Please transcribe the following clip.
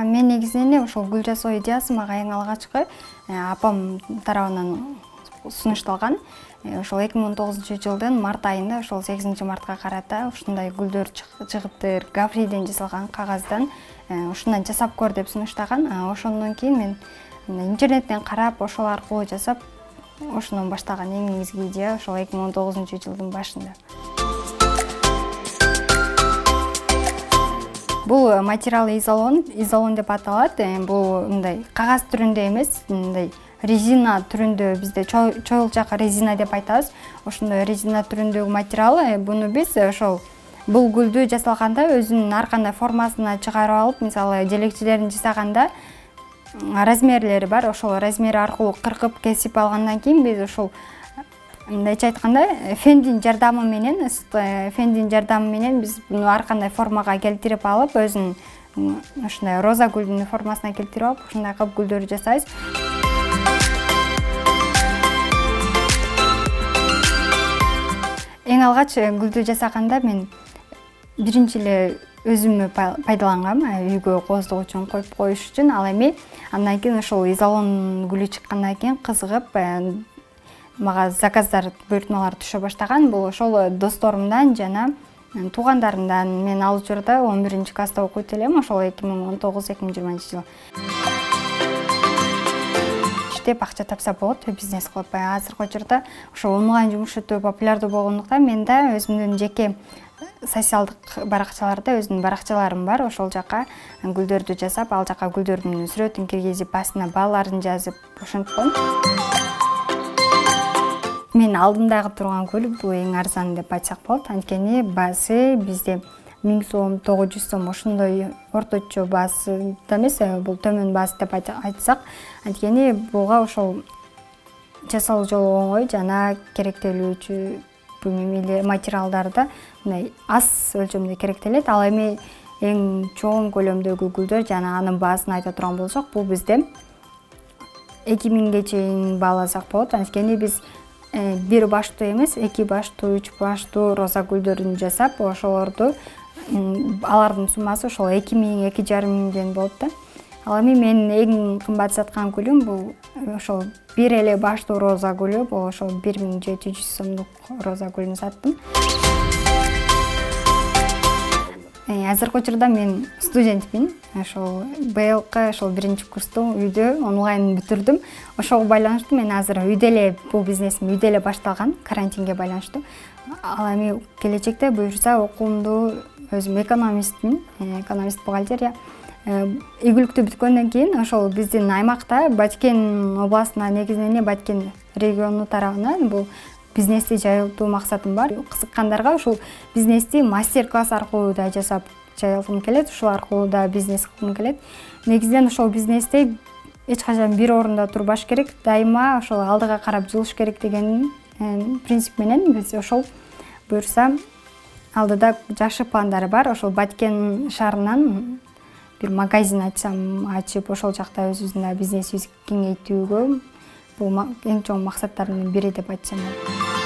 Мен негизинен ошол гүл жасоо идеясы мага эң алгачкы апам тарабынан сунушталган. Ошол 2019-жылдын март айында, ошол 8-мартка карата ушундай гүлдөр чыгыптыр, гаврийден жасалган кагаздан ушундан жасап көр деп сунуштаган. Ошондон кийин мен интернеттен карап, ошол аркылуу жасап, ошондон баштаган эң негизги идея ошол 2019-жылдын башында. Бул материал изолон деп аталат. Бул мындай кагаз түрүндө эмес, мындай резина түрүндө, бизде чоюлчак резина деп айтабыз. Ошондой резина түрүндөгү материал. Буну биз ошол бул гүлдү жасалганда өзүнүн ар кандай формасына чыгарып алып, мисалы желекчилерин жасаганда размерлери бар. Ошол размери аркылуу кыркып кесип алгандан кийин биз ошол мындайча айтканда фендин жардамы менен биз буну ар кандай формага келтирип алып, өзүнүн ушундай роза гүлдүн формасына келтирип алып, ушундай кылып гүлдөрдү жасайбыз. Эң алгач гүлдү жасаганда мен биринчи эле өзүмө пайдалангам, үйгө кооздук үчүн коюп коюш үчүн. Ал эми андан кийин ошол изолон гүлү чыккандан кийин кызыгып мага заказдар, буйртмалар түшө баштаган. Бул ошол досторумдан жана туугандарымдан. Мен ал учурда 11-класста окуйт элем, ошол 2019-2020 иштеп акча тапса болот, бизнес кылып. Азыркы учурда ошол онлайн жумуш өтө популярдуу болгондуктан мен да өзүмдүн жеке социалдык баракчаларда өзүмдүн баракчаларым бар. Ошол жака гүлдөрдү жасап, ал жака гүлдөрдүн сүрөтүн киргизип, астына бааларын жазып ошентип коем. Мен алдымдагы турган гүл бул эң арзан деп айтсак болот. Анткени баасы бизде 1000 сом, 900 сом ошондой орточо баасы да эмес, бул төмөн баасы деп айтсак. Анткени буга ошол жасалуу жолу оңой жана керектелүүчү материалдарды мындай аз өлчөмдө керектелет. Ал эми эң чоң көлөмдөгү гүлдөр жана анын баасын айта турган болсок, бул бизде 2000ге чейин бааласак болот. Анткени биз бир баштуу эмес, 2 баштуу, 3 баштуу роза гүлдөрүн жасап, ошолорду алардын суммасы ошол 2000-2500 болот да. Ал эми мен эң кымбат саткан гүлүм бул ошол бир эле баштуу роза гүлү, бул ошол 1700 сомдук роза гүлүн саттым. Азыркы учурда мен студентмин. Ошол быйылкы ошол 1-курсту үйдө онлайн бүтүрдүм. Ошого байланыштуу мен азыр үйдө эле бул бизнесим үйдө эле башталган, карантинге байланыштуу. Ал эми келечекте буюрса окуумду өзүм экономистмин, экономист-бухгалтерия. Игиликтүү бүткөндөн кийин ошол биздин аймакта Баткен областына, негизинен Баткен региону тарабынан бул бизнести жайылтуу максатым бар. Кызыккандарга ушул бизнести мастер-класс аркылуу да жасап жайылткым келет, ушул аркылуу да бизнес кылгым келет. Негизинен ошол бизнести эч качан бир орунда турбаш керек, дайыма ошол алдыга карап жылыш керек деген принцип менен биз ошол буюрса алдыда жакшы пландары бар. Ошол Баткен шаарынан бир магазин ачып, ошол жакта өзүбүздүн бизнесибизди кеңейтүүгө бул эң чоң максаттардын бири деп айтсам болот.